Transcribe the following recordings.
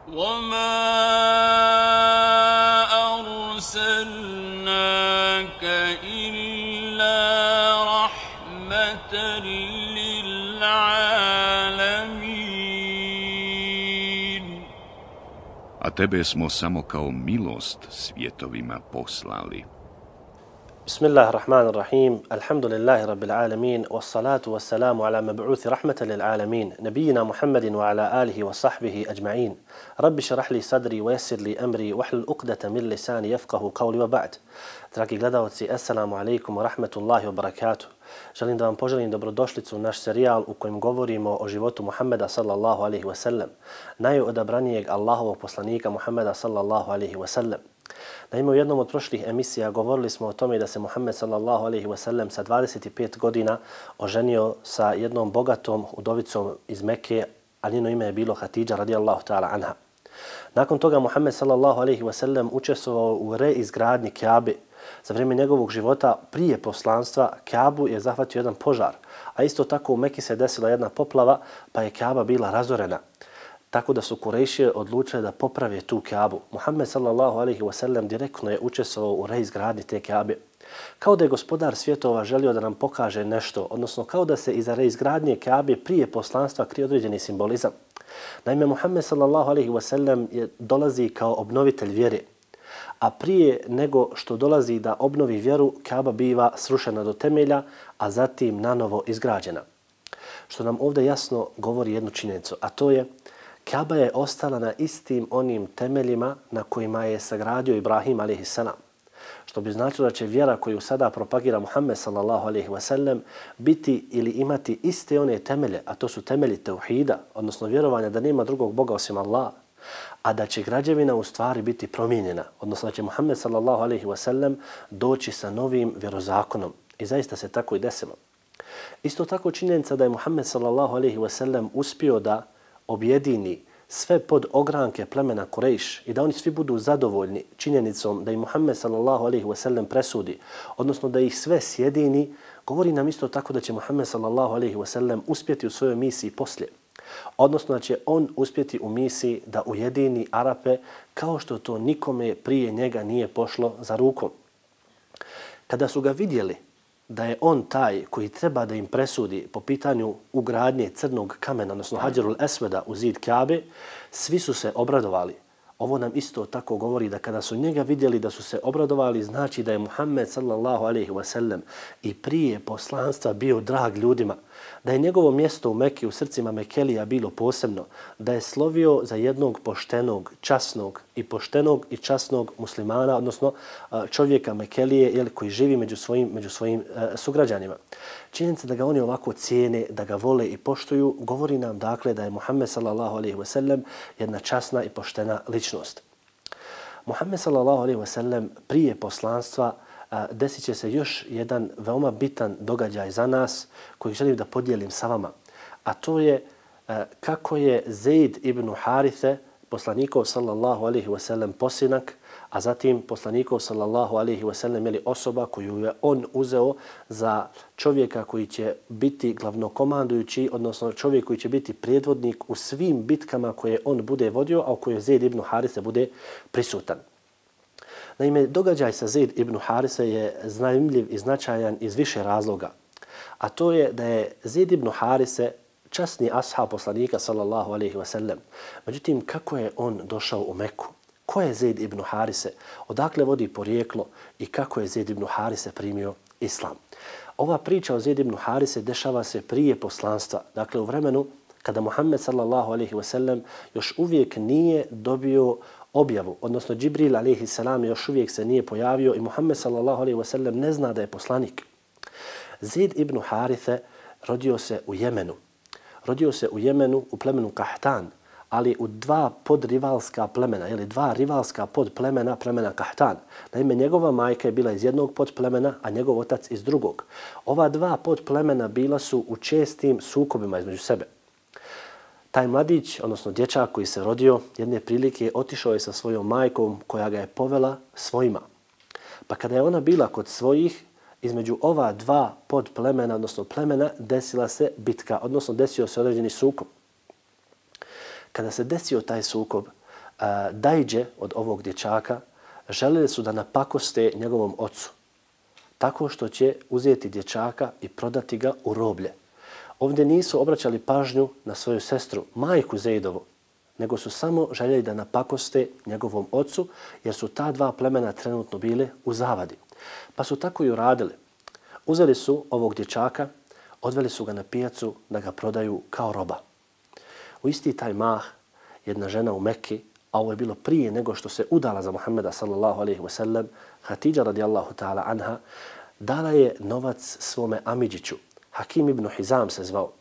وَمَا أَرْسَلْنَاكَ إِلَّا رَحْمَةً لِلْعَالَمِينَ. A tebe smo samo kao milost svjetovima poslali. Bismillahirrahmanirrahim. Alhamdulillahi rabbil alamin. Wassalatu wassalamu ala mab'uthi rahmatan lil alamin. Nabiyina Muhammadin wa ala alihi wa sahbihi ajma'in. Rabbi šrah li sadri wa yassir li amri wahlul uqdata min lisani yafqahu qawli wa ba'd. Dragi gledalci, assalamu alaikum wa rahmatullahi wa barakatuh. Želim da vam poželim dobrodošlicu u naš serijal u kojem govorimo o životu Muhammeda sallallahu alaihi wa sallam, najodabranijeg Allahovog poslanika Muhammeda sallallahu alaihi wa sallam. Naime, u jednom od prošlih emisija govorili smo o tome da se Muhammed sallallahu alaihi wa sallam sa 25 godina oženio sa jednom bogatom udovicom iz Mekke, a njeno ime je bilo Hatidža radijallahu ta'ala anha. Nakon toga Muhammed sallallahu alaihi wa sallam učestvovao u reizgradnji Kjabe. Za vrijeme njegovog života prije poslanstva Kjabu je zahvatio jedan požar, a isto tako u Mekki se desila jedna poplava pa je Kjaba bila razorena. Tako da su Kurejšije odlučili da poprave tu Kjabu. Muhammed sallallahu alaihi wa sallam direktno je učestvovao u reizgradnji te Kjabe. Kao da je gospodar svjetova želio da nam pokaže nešto, odnosno kao da se iza reizgradnje Kjabe prije poslanstva krije određeni simbolizam. Naime, Muhammed sallallahu alaihi wa sallam dolazi kao obnovitelj vjere, a prije nego što dolazi da obnovi vjeru, Kjaba biva srušena do temelja, a zatim nanovo izgrađena. Što nam ovdje jasno govori jednu činjenicu, a to je Kjaba je ostala na istim onim temeljima na kojima je sagradio Ibrahim a.s. Što bi značilo da će vjera koju sada propagira Muhammed sallallahu alaihi wa sallam biti ili imati iste one temelje, a to su temelji tauhida, odnosno vjerovanja da nema drugog Boga osim Allaha, a da će građevina u stvari biti promijenjena, odnosno da će Muhammed sallallahu alaihi wa sallam doći sa novim vjerozakonom. I zaista se tako i desilo. Isto tako činjenica da je Muhammed sallallahu alaihi wa sallam uspio da objedini sve pod ogranke plemena Kurejš i da oni svi budu zadovoljni činjenicom da i Muhammed sallallahu alaihi wa sallam presudi, odnosno da ih sve sjedini, govori nam isto tako da će Muhammed sallallahu alaihi wa sallam uspjeti u svojoj misiji poslije. Odnosno da će on uspjeti u misiji da ujedini Arape kao što to nikome prije njega nije pošlo za rukom. Kada su ga vidjeli da je on taj koji treba da im presudi po pitanju ugradnje crnog kamena, odnosno Hadžerul Esveda u zid Kjabe, svi su se obradovali. Ovo nam isto tako govori da kada su njega vidjeli da su se obradovali, znači da je Muhammed sallallahu alaihi wa sallam i prije poslanstva bio drag ljudima, da je njegovo mjesto u Mekki u srcima Mekelija bilo posebno, da je slovio za jednog poštenog, časnog muslimana, odnosno čovjeka Mekelije koji živi među svojim sugrađanima. Činjenica da ga oni ovako cijene, da ga vole i poštuju, govori nam dakle da je Muhammed sallallahu alaihi wa sallam jedna časna i poštena ličnost. Muhammed sallallahu alaihi wa sallam prije poslanstva desit će se još jedan veoma bitan događaj za nas koji želim da podijelim sa vama. A to je kako je Zeid ibn Harithe, poslanikov sallallahu alaihi wa sallam posinak, a zatim poslanikov sallallahu alaihi wa sallam je osoba koju je on uzeo za čovjeka koji će biti glavnokomandujući, odnosno čovjek koji će biti predvodnik u svim bitkama koje on bude vodio, a u kojoj Zeid ibn Harithe bude prisutan. Naime, događaj sa Zeid ibn Harise je zanimljiv i značajan iz više razloga. A to je da je Zeid ibn Harise časni ashab poslanika sallallahu alaihi wa sallam. Međutim, kako je on došao u Meku? Ko je Zeid ibn Harise? Odakle vodi porijeklo i kako je Zeid ibn Harise primio islam? Ova priča o Zeid ibn Harise dešava se prije poslanstva. Dakle, u vremenu kada Muhammed sallallahu alaihi wa sallam još uvijek nije dobio objavu, odnosno Džibril alaihi salam još uvijek se nije pojavio i Muhammed sallallahu alaihi wa sallam ne zna da je poslanik. Zeid ibn Harithe rodio se u Jemenu. Rodio se u Jemenu u plemenu Kahtan, ali u dva podrivalska plemena, dva rivalska podplemena, plemena Kahtan. Naime, njegova majka je bila iz jednog podplemena, a njegov otac iz drugog. Ova dva podplemena bila su u čestim sukobima između sebe. Taj mladić, odnosno dječak koji se rodio, jedne prilike otišao je sa svojom majkom koja ga je povela svojima. Pa kada je ona bila kod svojih, između ova dva podplemena, odnosno plemena, desila se bitka, odnosno desio se određeni sukob. Kada se desio taj sukob, dajđe od ovog dječaka želeli su da napakoste njegovom ocu tako što će uzeti dječaka i prodati ga u roblje. Ovdje nisu obraćali pažnju na svoju sestru, majku Zejdovu, nego su samo željeli da napakoste njegovom ocu, jer su ta dva plemena trenutno bile u zavadi. Pa su tako i uradili. Uzeli su ovog dječaka, odveli su ga na pijacu da ga prodaju kao roba. U isti taj mah jedna žena u Mekki, a ovo je bilo prije nego što se udala za Muhammeda sallallahu alejhi ve sellem, Hatidža radijallahu ta'ala anha, dala je novac svome amidžiću, Hakim ibn Hizam se zvao,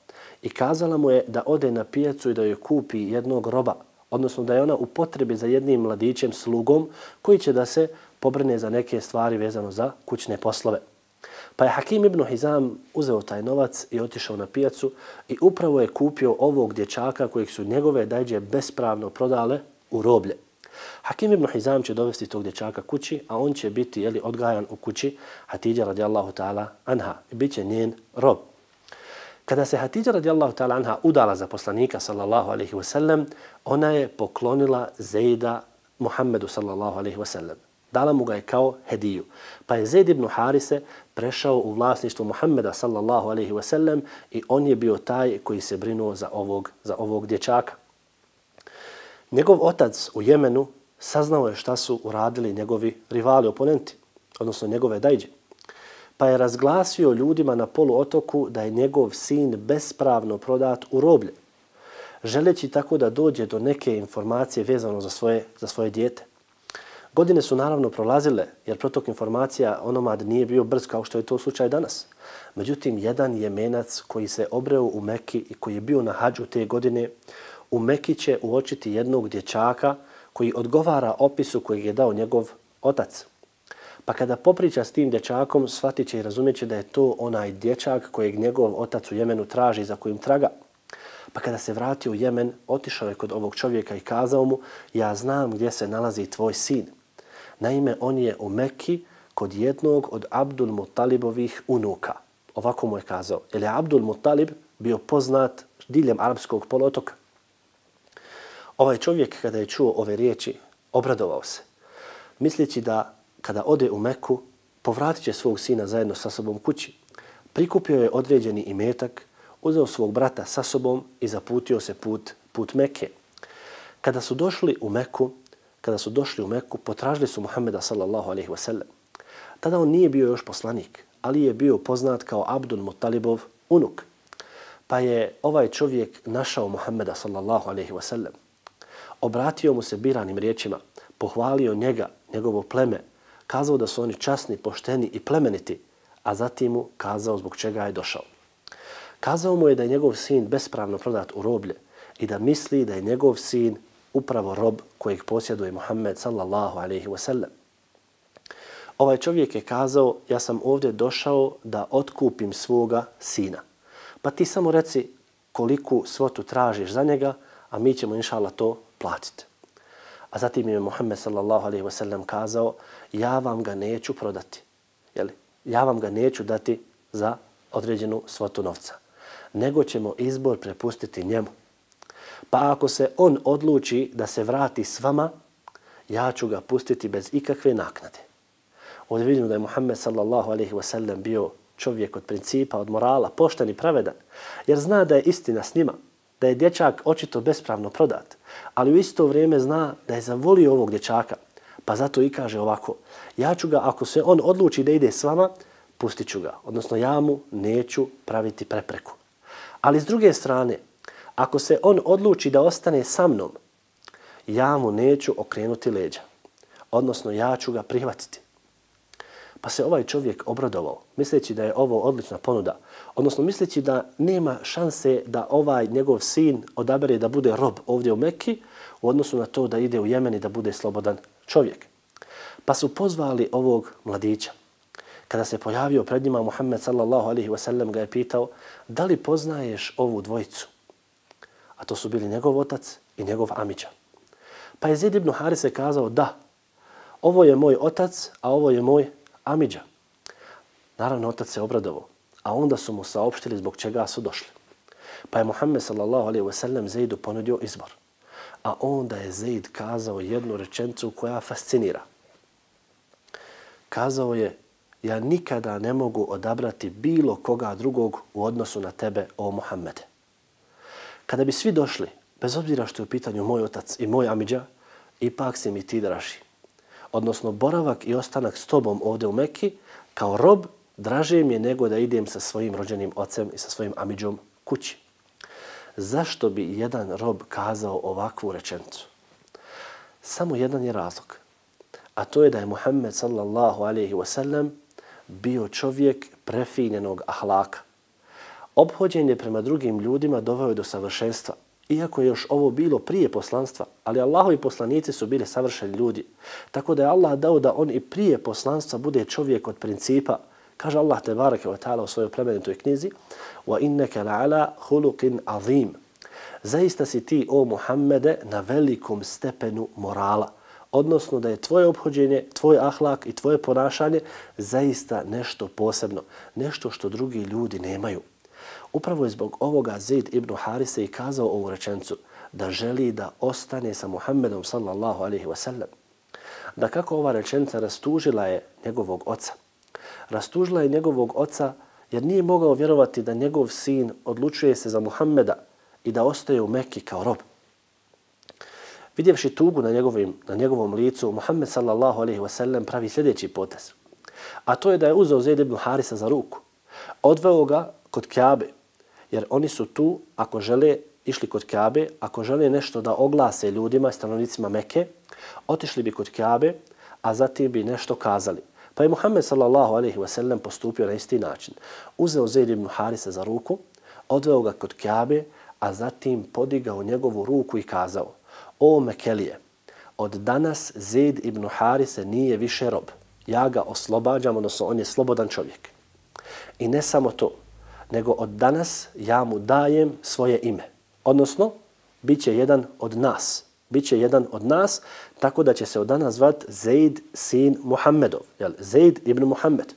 i kazala mu je da ode na pijacu i da joj kupi jednog roba, odnosno da je ona u potrebi za jednim mladićem, slugom, koji će da se pobrine za neke stvari vezano za kućne poslove. Pa je Hakim ibn Hizam uzeo taj novac i otišao na pijacu i upravo je kupio ovog dječaka kojeg su njegove dajđe bespravno prodale u roblje. Hakim ibn Hizam će dovesti tog dječaka kući, a on će biti odgajan u kući Hatidža radijallahu ta'ala anha i bit će njen rob. Kada se Hatidža radijallahu ta'ala anha udala za poslanika sallallahu alejhi ve sellem, ona je poklonila Zejda Muhammedu sallallahu alejhi ve sellem. Dala mu ga je kao hediju. Pa je Zejd ibn Harise prešao u vlasništvo Muhammeda sallallahu alejhi ve sellem i on je bio taj koji se brinuo za ovog dječaka. Njegov otac u Jemenu saznao je šta su uradili njegovi rivali, oponenti, odnosno njegove dajđe. Pa je razglasio ljudima na poluotoku da je njegov sin bespravno prodat u roblje, želeći tako da dođe do neke informacije vezano za svoje dijete. Godine su naravno prolazile, jer protok informacija onomad nije bio brz kao što je to slučaj danas. Međutim, jedan Jemenac koji se obreo u Mekki i koji je bio na hadžu te godine, u Mekki će uočiti jednog dječaka koji odgovara opisu kojeg je dao njegov otac. Pa kada popriča s tim dječakom, shvatit će i razumjet će da je to onaj dječak kojeg njegov otac u Jemenu traži, za kojim traga. Pa kada se vratio u Jemen, otišao je kod ovog čovjeka i kazao mu: ja znam gdje se nalazi tvoj sin. Naime, on je u Mekki kod jednog od Abdul Mutalibovih unuka. Ovako mu je kazao, jer je Abdul Mutalib bio poznat diljem arapskog poluotoka. Ovaj čovjek kada je čuo ove riječi, obradovao se, misleći da kada ode u Meku, povratit će svog sina zajedno sa sobom kući. Prikupio je određeni imetak, uzeo svog brata sa sobom i zaputio se put Mekke. Kada su došli u Meku, potražili su Muhammeda sallallahu alejhi ve sellem. Tada on nije bio još poslanik, ali je bio poznat kao Abdul Mutalibov unuk. Pa je ovaj čovjek našao Muhammeda sallallahu alejhi ve sellem. Obratio mu se biranim riječima, pohvalio njega, njegovo pleme, kazao da su oni časni, pošteni i plemeniti, a zatim mu kazao zbog čega je došao. Kazao mu je da je njegov sin bespravno prodat u roblje i da misli da je njegov sin upravo rob kojeg posjeduje Muhammed sallallahu alejhi ve sellem. Ovaj čovjek je kazao: ja sam ovdje došao da otkupim svoga sina. Pa ti samo reci koliku svotu tražiš za njega, a mi ćemo inšallah to platiti. A zatim je Muhammed sallallahu alejhi ve sellem kazao: ja vam ga neću prodati. Ja vam ga neću dati za određenu svotu novca, nego ćemo izbor prepustiti njemu. Pa ako se on odluči da se vrati s vama, ja ću ga pustiti bez ikakve naknade. Ovdje vidimo da je Muhammed sallallahu alejhi ve sellem bio čovjek od principa, od morala, pošten i pravedan, jer zna da je istina s njima, da je dječak očito bespravno prodat, ali u isto vrijeme zna da je zavolio ovog dječaka, pa zato i kaže ovako: ja ću ga, ako se on odluči da ide s vama, pustit ću ga, odnosno ja mu neću praviti prepreku. Ali s druge strane, ako se on odluči da ostane sa mnom, ja mu neću okrenuti leđa, odnosno ja ću ga prihvatiti. Pa se ovaj čovjek obradovao, misleći da je ovo odlična ponuda, odnosno misleći da nema šanse da ovaj njegov sin odabere da bude rob ovdje u Mekki u odnosu na to da ide u Jemen i da bude slobodan čovjek. Pa su pozvali ovog mladića. Kada se pojavio pred njima, Muhammed sallallahu alejhi ve sellem ga je pitao: da li poznaješ ovu dvojicu? A to su bili njegov otac i njegov amidža. Pa je Zejd ibn Harise kazao: da, ovo je moj otac, a ovo je moj amidža. Naravno, otac se obradovao, a onda su mu saopštili zbog čega su došli. Pa je Muhammed sallallahu alejhi ve sellem Zejdu ponudio izbor. A onda je Zeid kazao jednu rečenicu koja fascinira. Kazao je, ja nikada ne mogu odabrati bilo koga drugog u odnosu na tebe, o Muhammede. Kada bi svi došli, bez obzira što je u pitanju moj otac i moj amidža, ipak si mi ti draži. Odnosno, boravak i ostanak s tobom ovdje u Mekki, kao rob, draže mi je nego da idem sa svojim rođenim ocem i sa svojim amidžom kući. Zašto bi jedan rob kazao ovakvu rečenicu? Samo jedan je razlog. A to je da je Muhammed sallallahu alaihi wasallam bio čovjek prefinjenog ahlaka. Ophođenje prema drugim ljudima doveo je do savršenstva. Iako je još ovo bilo prije poslanstva, ali Allahovi poslanici su bili savršeni ljudi. Tako da je Allah dao da on i prije poslanstva bude čovjek od principa. Kaže Allah tebareke ve taala u svojoj plemenitoj knjizi: "Wa innaka la'ala khuluqin azim." Zaista si ti, o Muhammede, na velikom stepenu morala. Odnosno da je tvoje ophođenje, tvoj ahlak i tvoje ponašanje zaista nešto posebno, nešto što drugi ljudi nemaju. Upravo je zbog ovoga Zeid ibn Harise i kazao ovu rečenicu, da želi da ostane sa Muhammedom sallallahu alaihi wasallam. Da kako ova rečenica rastužila je njegovog oca. Rastužila je njegovog oca jer nije mogao vjerovati da njegov sin odlučuje se za Muhammeda i da ostaje u Mekki kao rob. Vidjevši tugu na njegovom licu, Muhammed sallallahu alaihi wasallam pravi sljedeći potez. A to je da je uzeo Zeid ibn Harisa za ruku. Odveo ga kod Kjabe, jer oni su tu, ako žele, išli kod Kjabe, ako žele nešto da oglase ljudima, stanovnicima Mekke, otišli bi kod Kjabe, a zatim bi nešto kazali. Pa je Muhammed sallallahu alaihi wasallam postupio na isti način. Uzeo Zeid ibn Harisa za ruku, odveo ga kod Kjabe, a zatim podigao njegovu ruku i kazao: "O Mekelije, od danas Zeid ibn Harise nije više rob. Ja ga oslobađam, odnosno on je slobodan čovjek. I ne samo to, nego od danas ja mu dajem svoje ime. Odnosno, bit će jedan od nas. Biće jedan od nas, tako da će se od danas zvat Zeid sin Muhammedov. Zeid ibn Muhammed."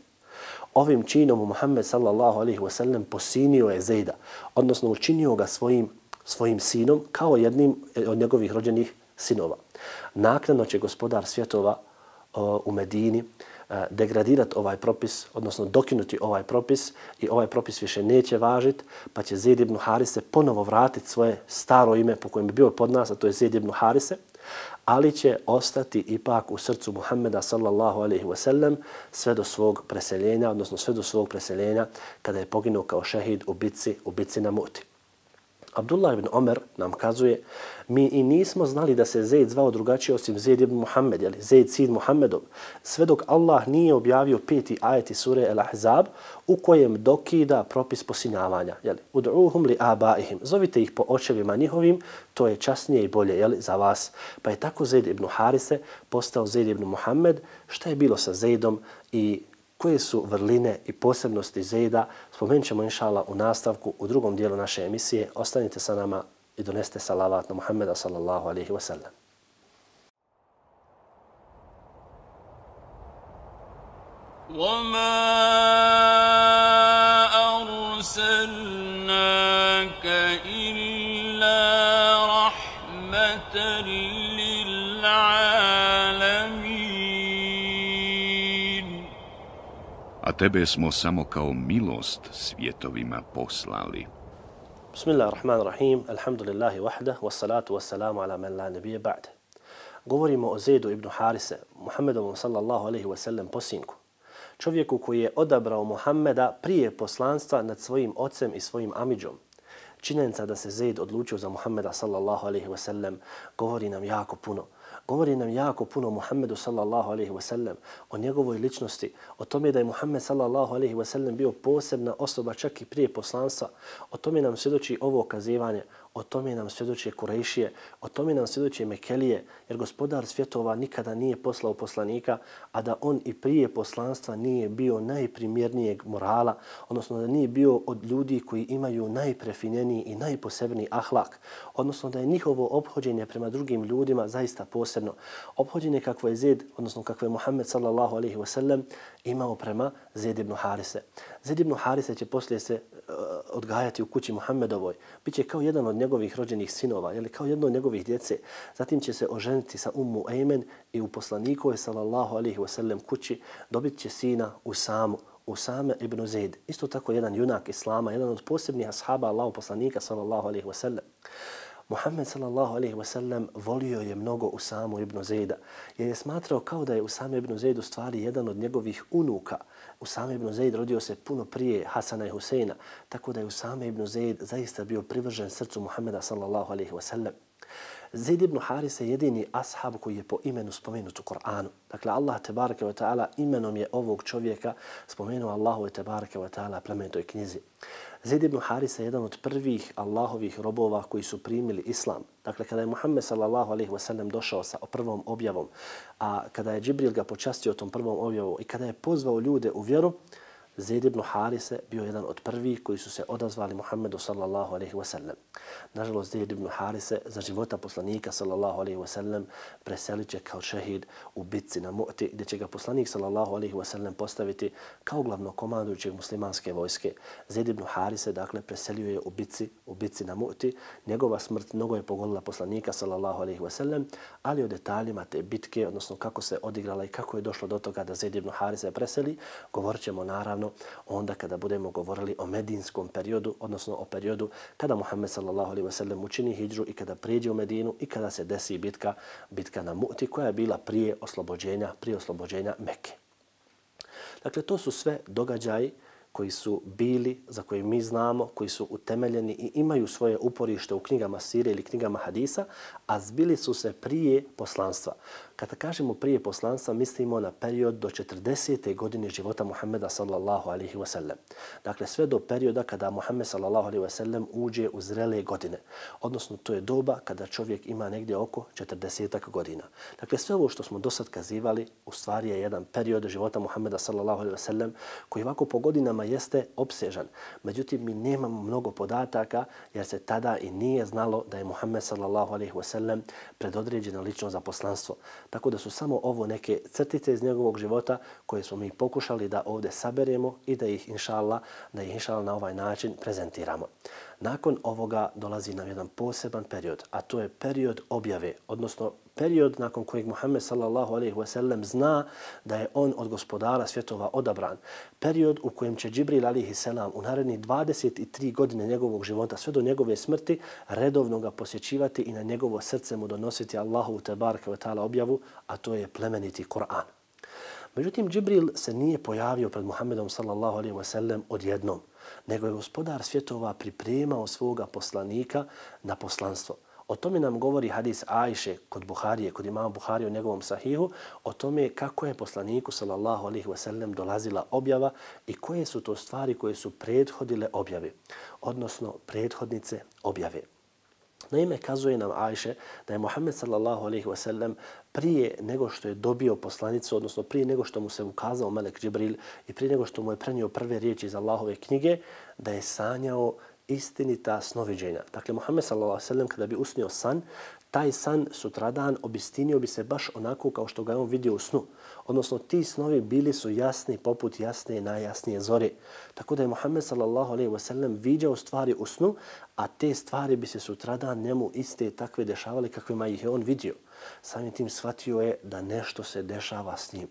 Ovim činom Muhammed sallallahu alaihi wasallam posinio je Zeida, odnosno učinio ga svojim sinom kao jednim od njegovih rođenih sinova. Naknadno će gospodar svjetova u Medini degradirati ovaj propis, odnosno dokinuti ovaj propis i ovaj propis više neće važiti, pa će Zeid ibn Harise ponovo vratiti svoje staro ime po kojem bi bio pod nas, a to je Zeid ibn Harise, ali će ostati ipak u srcu Muhammeda sallallahu alaihi wasallam sve do svog preseljenja, odnosno sve do svog preseljenja kada je poginuo kao šehid u bitci na Muti. Abdullah ibn Omer nam kazuje, mi i nismo znali da se Zeid zvao drugačije osim Zeid ibn Muhammed, Zeid sin Muhammedov, sve dok Allah nije objavio 5. ajet iz sure Al-Ahzab u kojem dokida propis posinjavanja. Ud'uhum li abaihim, zovite ih po očevima njihovim, to je časnije i bolje za vas. Pa je tako Zeid ibn Harise postao Zeid ibn Muhammed. Šta je bilo sa Zeidom i koje su vrline i posebnosti Zeida, spomenut ćemo inšala u nastavku u drugom dijelu naše emisije. Ostanite sa nama i doneste salavat na Muhammeda sallallahu alaihi wasallam. وَمَا أَرْسَلْنَاكَ إِلَّا رَحْمَةً لِلْعَالَمِينَ A tebe smo samo kao milost svjetovima poslali. Bismillahirrahmanirrahim, alhamdulillahi wahdah, wassalatu wassalamu ala man la nabije ba'de. Govorimo o Zeidu ibn Harise, Muhammedovom sallallahu alaihi wasallam posinku. Čovjeku koji je odabrao Muhammeda prije poslanstva nad svojim ocem i svojim amidžom. Činjenica da se Zeid odlučio za Muhammeda sallallahu alaihi wasallam govori nam jako puno. Govori nam jako puno o Muhammedu sallallahu alaihi wasallam, o njegovoj ličnosti, o tome da je Muhammed sallallahu alaihi wasallam bio posebna osoba čak i prije poslanstva. O tome nam svjedoči ovo kazivanje, o tome nam svjedoči Kurejšije, o tome nam svjedoči Mekelije, jer gospodar svjetova nikada nije poslao poslanika, a da on i prije poslanstva nije bio najprimjernijeg morala, odnosno da nije bio od ljudi koji imaju najprefinjeniji i najposebniji ahlak, odnosno da je njihovo ophođenje prema drugim ljudima zaista posebno. posebno ophođenje kakvo je Zaid, odnosno kakvo je Muhammed sallallahu alejhi ve sellem imao prema Zaid ibn Harise. Zaid ibn Harise će poslije se odgajati u kući Muhammedovoj. Biće kao jedan od njegovih rođenih sinova, ili kao jedno od njegovih djece. Zatim će se oženiti sa Ummu Ejmen i u poslanikovoj sallallahu alejhi ve sellem kući dobit će sina Usame ibn Zaid. Isto tako jedan junak Islama, jedan od posebnih ashaba Allahov poslanika sallallahu alejhi ve sellem. Muhammed sallallahu alejhi ve sellem volio je mnogo Usamu ibn Zaida, jer je smatrao kao da je Usame ibn Zaid u stvari jedan od njegovih unuka. Usame ibn Zaid rodio se puno prije Hasana i Huseina, tako da je Usame ibn Zaid zaista bio privržen srcu Muhammeda sallallahu alejhi ve sellem. Zaid ibn Harise je jedini ashab koji je po imenu spomenut u Kur'anu. Dakle, Allah tebareke ve ta'ala imenom je ovog čovjeka spomenuo Allahu tebareke ve ta'ala plemenitoj knjizi. Zaid ibn Harise je jedan od prvih Allahovih robova koji su primili islam. Dakle, kada je Muhammed sallallahu alejhi ve sellem došao sa prvom objavom, a kada je Džibril ga počastio tom prvom objavom i kada je pozvao ljude u vjeru, Zaid ibn Harise bio jedan od prvih koji su se odazvali Muhammedu sallallahu alejhi ve sellem. Nažalost, Zaid ibn Harise za života poslanika sallallahu alejhi ve sellem preselit će kao šehid u bitci na Mu'ti, gdje će ga poslanik sallallahu alejhi ve sellem postaviti kao glavnokomandujućeg muslimanske vojske. Zaid ibn Harise, dakle, preselio je u bitci na Mu'ti. Njegova smrt mnogo je pogodila poslanika sallallahu alejhi ve sellem, ali o detaljima te bitke, odnosno kako se odigrala i kako je došlo do toga da Zaid ibn Harise preseli, govorit ćemo naravno onda kada budemo govorili o medinskom periodu, odnosno o periodu kada Muhammed sallallahu alejhi ve sellem učini hidžu i kada prijeđe u Medinu i kada se desi bitka na Mu'ti koja je bila prije oslobođenja Mekke. Dakle, to su sve događaji koji su bili, za koje mi znamo, koji su utemeljeni i imaju svoje uporište u knjigama sire ili knjigama hadisa, a zbili su se prije poslanstva. Kada kažemo prije poslanstva, mislimo na period do 40. godine života Muhammeda sallallahu alejhi ve sellem. Dakle, sve do perioda kada Muhammed sallallahu alejhi ve sellem uđe u zrele godine. Odnosno, to je doba kada čovjek ima negdje oko 40 godina. Dakle, sve ovo što smo do sad kazivali, u stvari je jedan period života Muhammeda sallallahu alejhi ve sellem koji ovako po godinama jeste opsežan. Međutim, mi nemamo mnogo podataka jer se tada i nije znalo da je Muhammed sallallahu alejhi ve sellem predodređena ličnost za poslanstvo. Tako da su samo ovo neke crtice iz njegovog života koje smo mi pokušali da ovdje saberemo i da ih inšallah na ovaj način prezentiramo. Nakon ovoga dolazi nam jedan poseban period, a to je period objave, odnosno period nakon kojeg Muhammed sallallahu alejhi ve sellem zna da je on od gospodara svjetova odabran. Period u kojem će Džibril alejhi selam u narednih 23 godine njegovog života sve do njegove smrti redovno ga posjećivati i na njegovo srce mu donositi Allahu tebareke ve taala objavu, a to je plemeniti Kur'an. Međutim, Džibril se nije pojavio pred Muhammedom sallallahu alejhi ve sellem odjednom, nego je gospodar svjetova pripremao svoga poslanika na poslanstvo. O tome nam govori hadis Ajše kod Buharije, kod imama Buharije u njegovom sahihu, o tome kako je poslaniku sallallahu alejhi ve sellem dolazila objava i koje su to stvari koje su prethodile objave, odnosno prethodnice objave. Naime, kazuje nam Ajše da je Muhammed sallallahu alejhi ve sellem prije nego što je dobio poslanicu, odnosno prije nego što mu se ukazao melek Džibril i prije nego što mu je prenio prve riječi iz Allahove knjige, da je sanjao istinita snoviđenja. Dakle, Muhammed sallallahu alejhi ve sellem kada bi usnio san, taj san sutradan obistinio bi se baš onako kao što ga je on vidio u snu. Odnosno, ti snovi bili su jasni poput jasne i najjasnije zore. Tako da je Muhammed sallallahu alejhi ve sellem viđao stvari u snu, a te stvari bi se sutradan njemu iste takve dešavale kakvima ih je on vidio. Samim tim shvatio je da nešto se dešava s njim.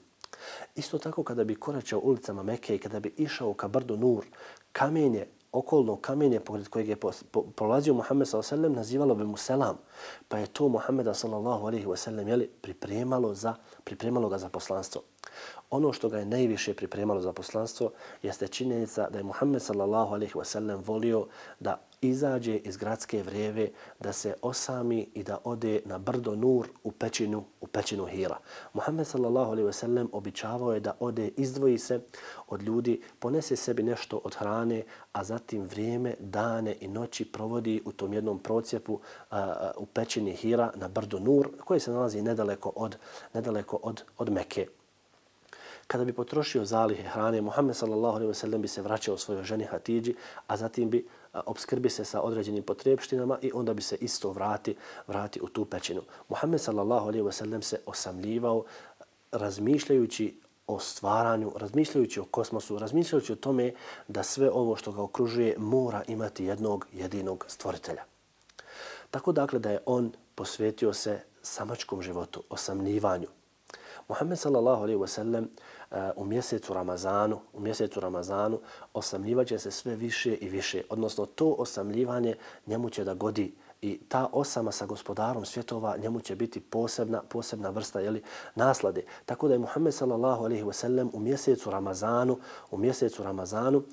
Isto tako kada bi koračao ulicama Mekke i kada bi išao ka brdu Nur, okolno kamenje pored kojeg je prolazio Muhammed sallallahu alejhi ve sellem nazivalo bi mu selam, pa je to Muhammeda sallallahu alejhi ve sellem pripremalo ga za poslanstvo. Ono što ga je najviše pripremalo za poslanstvo jeste činjenica da je Muhammed sallallahu alejhi ve sellem volio da izađe iz gradske vreve, da se osami i da ode na brdo Nur u pećinu Hira. Muhammed sallallahu alejhi ve sellem običavao je da ode, izdvoji se od ljudi, ponese sebi nešto od hrane, a zatim vrijeme, dane i noći provodi u tom jednom procjepu u pećini Hira na brdo Nur, koji se nalazi nedaleko od Mekke. Kada bi potrošio zalihe hrane, Muhammed sallallahu alejhi ve sellem bi se vraćao svojoj ženi Hatidži, a zatim bi obskrbi se sa određenim potrebštinama i onda bi se isto vrati u tu pećinu. Muhammed sallallahu alejhi ve sellem se osamljivao razmišljajući o stvaranju, razmišljajući o kosmosu, razmišljajući o tome da sve ovo što ga okružuje mora imati jednog jedinog stvoritelja. Tako dakle da je on posvetio se samačkom životu, osamljivanju. Muhammed sallallahu alejhi ve sellem u mjesecu Ramazanu osamljivaće se sve više i više, odnosno to osamljivanje njemu će da godi i ta osama sa gospodarom svjetova njemu će biti posebna vrsta naslade. Tako da je Muhammed sallallahu alejhi ve sellem u mjesecu Ramazanu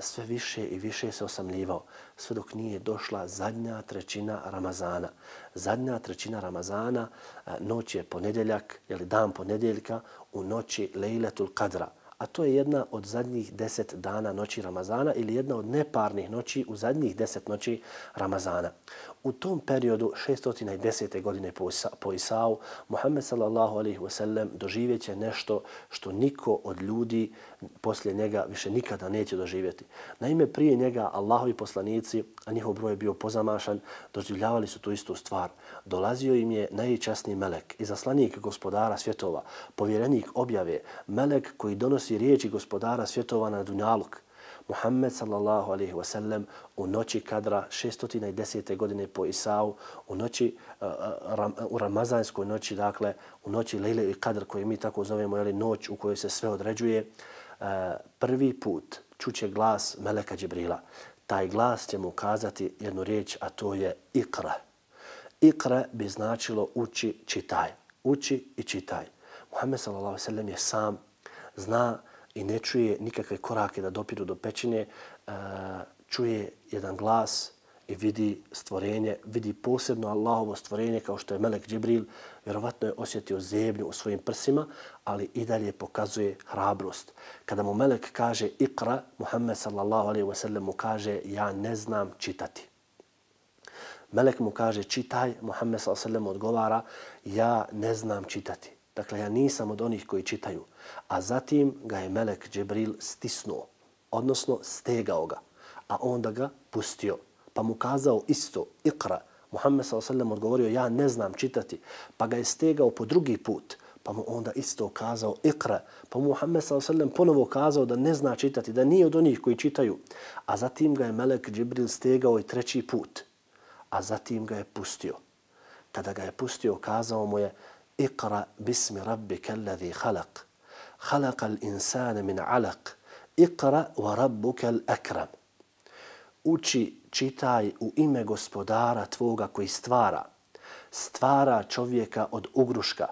sve više i više se osamljivao, sve dok nije došla zadnja trećina Ramazana. Zadnja trećina Ramazana, noć je ponedjeljak, dan ponedjeljka u noći Lejletul Kadra. A to je jedna od zadnjih 10 dana noći Ramazana ili jedna od neparnih noći u zadnjih 10 noći Ramazana. U tom periodu 610. godine po Isau, Muhammed sallallahu alejhi ve sellem doživjet će nešto što niko od ljudi poslije njega više nikada neće doživjeti. Naime, prije njega Allahovi poslanici, a njihov broj je bio pozamašan, doživljavali su tu istu stvar. Dolazio im je najčasniji melek, izaslanik gospodara svjetova, povjerenik objave, melek koji donosi riječi gospodara svjetova na dunjaluk. Muhammed sallallahu alejhi ve sellem u noći Kadra 610. godine po Isau, u ramazanskoj noći, dakle u noći Lejle i Kadr koju mi tako zovemo, noć u kojoj se sve određuje, prvi put čuće glas meleka Džibrila. Taj glas će mu kazati jednu riječ, a to je Iqra. Iqra bi značilo uči, čitaj. Uči i čitaj. Muhammed sallallahu alejhi ve sellem je sam, zna i ne čuje nikakve korake da dopiru do pećine, čuje jedan glas i vidi stvorenje, vidi posebno Allahovo stvorenje kao što je melek Džibril. Vjerovatno je osjetio zebnju u svojim prsima, ali i dalje pokazuje hrabrost. Kada mu melek kaže Iqra, Muhammed sallallahu alejhi ve sellem mu kaže ja ne znam čitati. Melek mu kaže čitaj, Muhammed sallallahu alejhi ve sellem odgovara ja ne znam čitati. Dakle, ja nisam od onih koji čitaju. A zatim ga je melek Džibril stisnuo, odnosno stegao ga, a onda ga pustio. Pa mu kazao isto, Iqra. Muhammed s.a.v. odgovorio, ja ne znam čitati. Pa ga je stegao po drugi put, pa mu onda isto kazao Iqra. Pa mu Muhammed s.a.v. ponovo kazao da ne zna čitati, da nije od onih koji čitaju. A zatim ga je melek Džibril stegao i treći put, a zatim ga je pustio. Kada ga je pustio, kazao mu je Iqra bismi rabbika alladhi khalaq. Khalaqa al-insana min 'alaq. Iqra wa rabbuka al-akram. Uči, čitaj u ime gospodara tvoga koji stvara čovjeka od ugruška.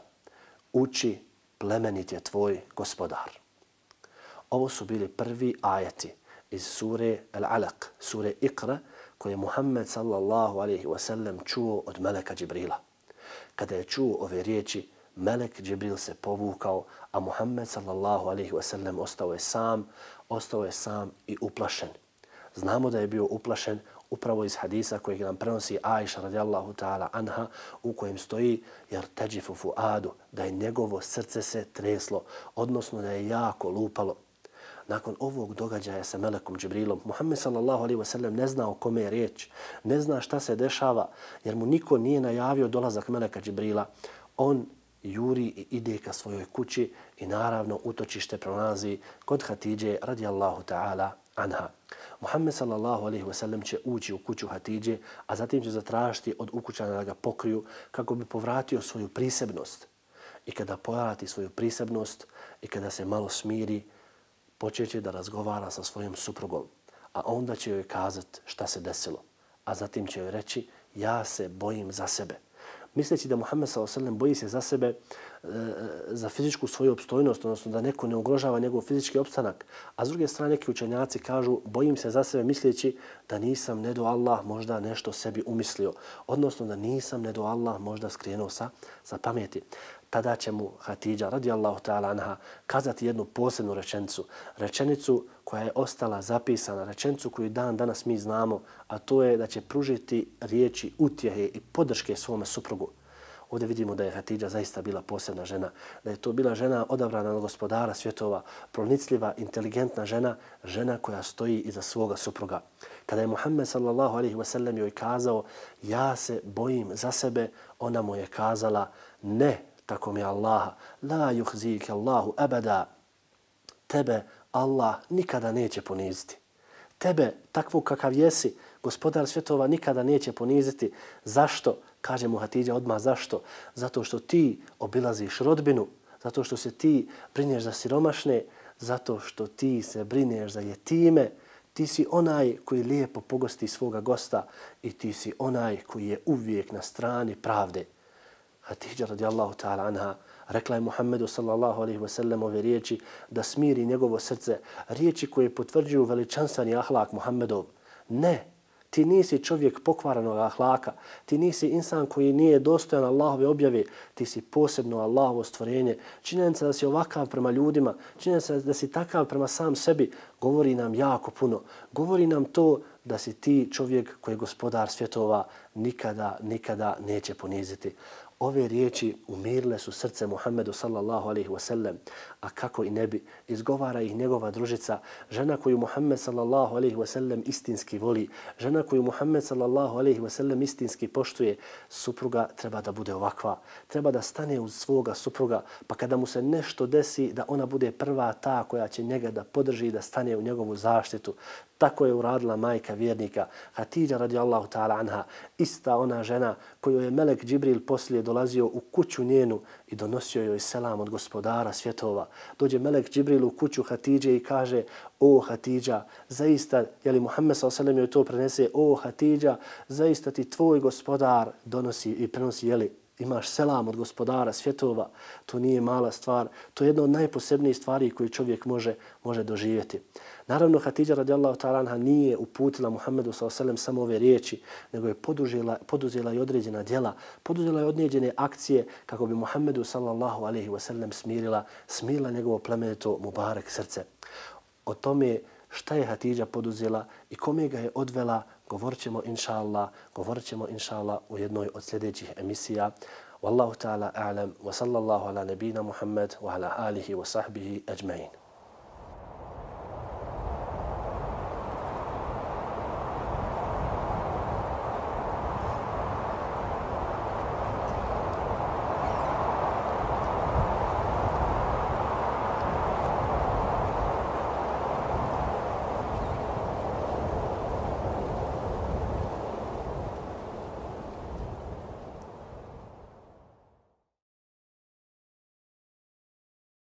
Uči, plemenit je tvoj gospodar. Ovo su bili prvi ajeti iz sure Al-Alaq, sure Iqra, koje je Muhammed sallallahu alejhi ve sellem čuo od meleka Džibrila. Kada je čuo ove riječi, melek Džibril se povukao, a Muhammed sallallahu alejhi ve sellem ostao je sam i uplašen. Znamo da je bio uplašen upravo iz hadisa kojeg nam prenosi Aisha radijallahu ta'ala anha, u kojem stoji jer teđifu fuadu, da je njegovo srce se treslo, odnosno da je jako lupalo. Nakon ovog događaja sa melekom Džibrilom, Muhammed sallallahu alejhi ve sellem ne zna o kome je riječ, ne zna šta se dešava, jer mu niko nije najavio dolazak meleka Džibrila. On juri i ide ka svojoj kući i naravno utočište pronalazi kod Hatidže radijallahu ta'ala anha. Muhammed sallallahu alejhi ve sellem će ući u kuću Hatidže, a zatim će zatražiti od ukućana da ga pokriju kako bi povratio svoju prisebnost. I kada povrati svoju prisebnost i kada se malo smiri, počeće da razgovara sa svojom suprugom, a onda će joj kazati šta se desilo. A zatim će joj reći, ja se bojim za sebe. Misleći da Muhammed s.a.v. boji se za sebe, za fizičku svoju opstojnost, odnosno da neko ne ugrožava njegov fizički opstanak. A s druge strane, neki učenjaci kažu, bojim se za sebe misleći da nisam, ne do Allah, možda nešto sebi umislio. Odnosno da nisam, ne do Allah, možda skrenuo sa pameti. Tada će mu Hatidža radijallahu ta'ala anha kazati jednu posebnu rečenicu koja je ostala zapisana, rečenicu koju dan danas mi znamo, a to je da će pružiti riječi utjehe i podrške svome suprugu. Ovdje vidimo da je Hatidža zaista bila posebna žena, da je to bila žena odabrana od Gospodara svjetova, pronicljiva, inteligentna žena, žena koja stoji iza svoga supruga. Kada je Muhammed sallallahu alejhi ve sellem joj kazao ja se bojim za sebe, ona mu je kazala ne, tako mi Allaha, la yuhzika Allahu abada, tebe Allah nikada neće poniziti. Tebe, takvog kakav jesi, Gospodar svjetova nikada neće poniziti. Zašto? Kaže mu Hatidža odmah zašto? Zato što ti obilaziš rodbinu, zato što se ti brineš za siromašne, zato što ti se brineš za jetime, ti si onaj koji lijepo pogosti svoga gosta i ti si onaj koji je uvijek na strani pravde. Hatidža radijallahu ta'ala anha rekla je Muhammedu sallallahu alejhi ve sellem ove riječi da smiri njegovo srce, riječi koje potvrđuju veličanstveni ahlak Muhammedov. Ne, ti nisi čovjek pokvaranog ahlaka, ti nisi insan koji nije dostojan Allahove objave, ti si posebno Allahovo stvorenje. Činjenica da si ovakav prema ljudima, činjenica da si takav prema sam sebi, govori nam jako puno. Govori nam to da si ti čovjek koji je Gospodar svjetova nikada neće poniziti. Ove riječi umirile su srce Muhammedu sallallahu alejhi ve sellem, a kako i ne bi, izgovara ih njegova družica, žena koju Muhammed sallallahu alejhi ve sellem istinski voli, žena koju Muhammed sallallahu alejhi ve sellem istinski poštuje. Supruga treba da bude ovakva, treba da stane uz svoga supruga, pa kada mu se nešto desi da ona bude prva ta koja će njega da podrži i da stane u njegovu zaštitu. Tako je uradila majka vjernika Hatidža radijallahu ta'ala anha, ista ona žena koju je melek Džibril poslije dolazio u kuću njenu i donosio joj selam od Gospodara svjetova. Dođe melek Džibril u kuću Hatidže i kaže o Hatidža, zaista, jeli Muhammed s.a.v. joj to prenese, o Hatidža, zaista ti tvoj Gospodar donosi i prenosi, jeli, imaš selam od Gospodara svjetova. To nije mala stvar, to je jedna od najposebnijih stvari koju čovjek može doživjeti. Naravno, Hatidža radijallahu ta'ala anha nije uputila Muhammedu s.a.v. samo ove riječi, nego je poduzela i određena djela, poduzela i određene akcije kako bi Muhammedu sallallahu alejhi ve sellem smirila njegovo plemenito mubarek srce. O tome šta je Hatidža poduzela i kome ga je odvela, govorit ćemo inša Allah u jednoj od sljedećih emisija. Wallahu ta'ala a'lam wa sallallahu ala nabina Muhammad wa ala alihi wa sahbihi ajma'in.